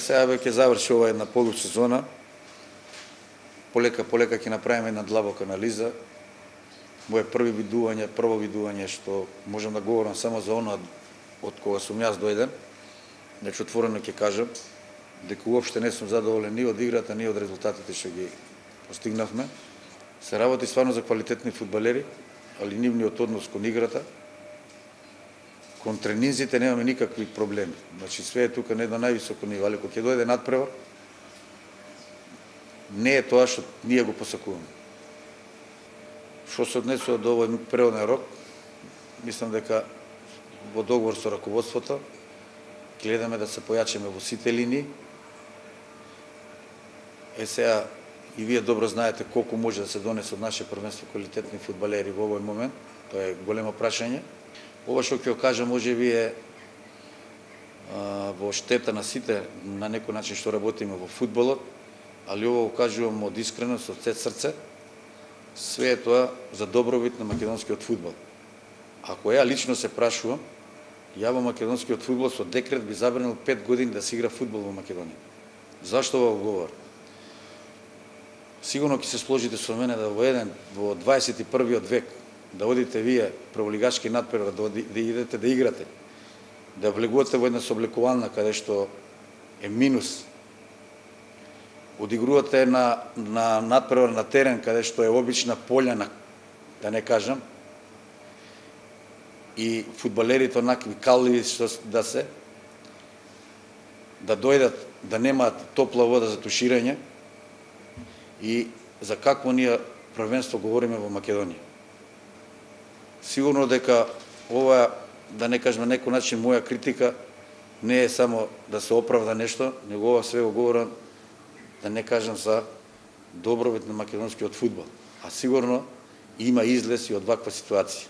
сега ќе заврши ова една полусезона. Полека ќе направиме една длабока анализа. Моје прво видување што можам да говорам само за она од кога сум јас дојден. Значи отворено ќе кажам дека уопште не сум задоволен ни од играта, ни од резултатите што ги постигнавме. Се работи стварно за квалитетни фудбалери, али нивниот однос кон играта, кон тренинзите немаме никакви проблеми. Значи све е тука на едно највисоко ниво, али кога ќе дојде надпревар, не е тоа што ние го посакуваме. Што се однесува до овој преводен рок, мислам дека во договор со раководството гледаме да се појачаме во сите линии. Сега и вие добро знаете колку може да се донесе од наше првенство квалитетни фудбалери во овој момент. Тоа е големо прашање. Ова што ќе кажам може би е во штета на сите на некој начин што работиме во фудбалот, али ова го кажувам од искреност, од сет срце. Све е тоа за добробит на македонскиот фудбал. Ако ја лично се прашувам, ја во македонскиот фудбал со декрет би забранил 5 години да се игра фудбал во Македонија. Зашто ова говорам? Сигурно ќе се сложите со мене да во 21. век да одите вие прволигачки надпревар, да идете да играте, да влегувате во една сооблекувална каде што е минус, одигрувате на надпревар на терен каде што е обична полјана, да не кажам, и фудбалерите онакви калливи што да дојдат, да немаат топла вода за туширање, и за какво ние првенство говориме во Македонија. Сигурно дека ова, да не кажем на некој начин, моја критика не е само да се оправда нешто, него ова све го говорам, да не кажам за добробит на македонскиот фудбал. А сигурно има излез и од ваква ситуација.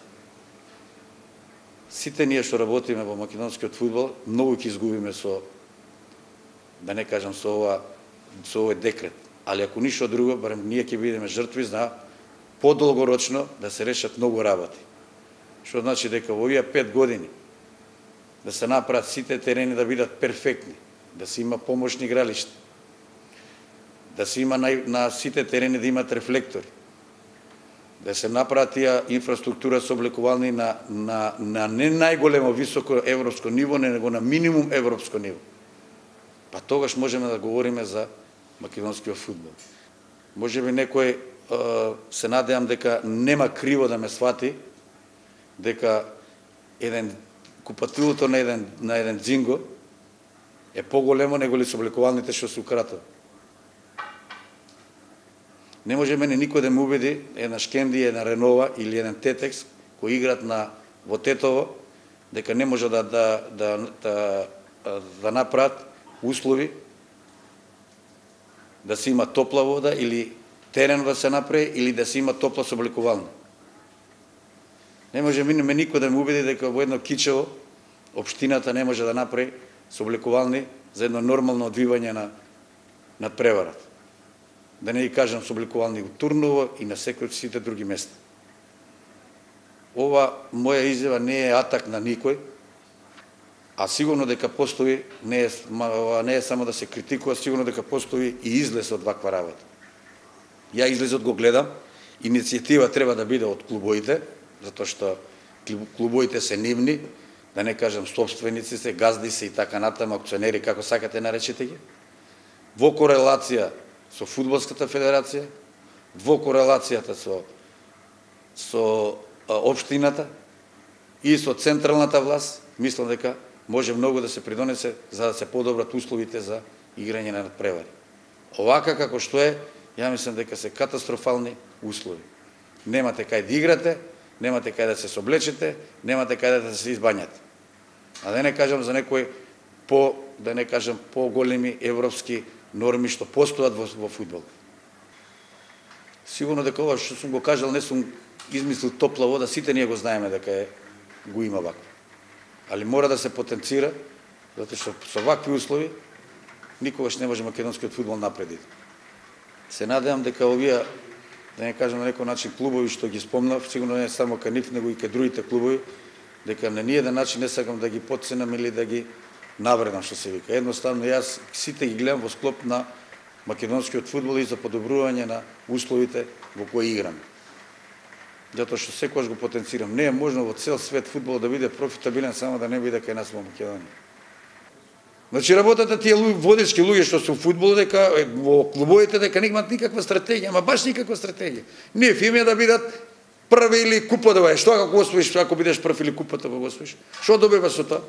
Сите ние што работиме во македонскиот фудбал, многу ќе изгубиме со, да не кажам, со овој декрет. Али ако ништо друго, барем ние ќе бидеме жртви за подолгорочно да се решат многу работи. Што значи дека во овие 5 години да се направат сите терени да бидат перфектни, да се има помошни игралишта, да се има на сите терени да имат рефлектори, да се направат тие инфраструктура сооблекувални на не најголемо високо европско ниво, него на минимум европско ниво. Па тогаш можеме да говориме за македонскиот фудбал. Може би некој се надевам дека нема криво да ме свати, дека купатилото на еден дзинго е поголемо него ли сооблекувалните што се укратува. Не може мене никој да ме убеди една Шкенди, една Ренова или еден Тетекс кои играт во Тетово дека не може да направат услови да се има топла вода или терен да се направи или да се има топла сооблекувална. Не може мене никој да ме убеди дека во едно Кичево општината не може да направи сооблекувални за едно нормално одвивање на преварат. Да не ги кажам сооблекувални во Турново и на секој сите други места. Ова моја изјава не е атак на никој, а сигурно дека постои, не е само да се критикува, сигурно дека постои и излез од ваква работа. Ја излезот го гледам, иницијатива треба да биде од клубоите, затоа што клубоите се нивни, да не кажам собственици се, газди се и така натаму, акционери, како сакате наречете ги, во корелација со Фудбалската федерација, во корелацијата со општината и со централната власт, мислам дека може многу да се придонесе за да се подобрат условите за играње на надпревари. Овака како што е, ја мислам дека се катастрофални услови. Немате кај да играте, немате кај да се соблечете, немате кај да се избањате. А да не кажам за некои поголеми европски норми што постојат во фудбал. Сигурно дека ова што сум го кажал не сум измислил топла вода, сите ние го знаеме дека го има вакво. Али мора да се потенцира, затоа што со вакви услови никогаш не може македонскиот фудбал напред. Се надевам дека овие, да не кажам на некој начин, клубови што ги спомнав, сигурно не само кај нив, него и кај другите клубови, дека на ниеден начин не сакам да ги потценам или да ги навредам што се вика. Едноставно јас сите ги гледам во склоп на македонскиот фудбал и за подобрување на условите во кои играме. Затоа што секогаш го потенцирам. Не е можно во цел свет фудбалот да биде профитабилен само да не биде кај нас во Македонија. Значи работата тие водечки луѓе што се во фудбалот дека во клубовите дека немаат никаква стратегија, ама баш никаква стратегија. Ние фиме да бидат први или купа да што ако освоиш, ако бидеш прв или купата го освоиш. Што добиваш со тоа?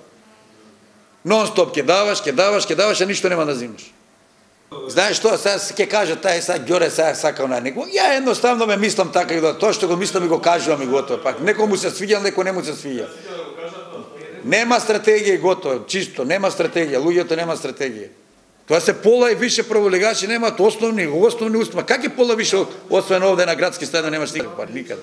Нон-стоп ќе даваш, а ништо нема да зимаш. Знаеш што, сега ќе кажа тај сега Ѓоре сега сакал на него. Ја едноставно ме мислам така и тоа што го мислам и го кажувам и готово. Пак некому се свиѓа, некој не му се свиѓа. Нема стратегија и готово, чисто, нема стратегија, луѓето нема стратегија. Тоа се пола и више прволигачи немаат основни успех. Как е пола више освен овде на градски стадион немаш никаква, никаде.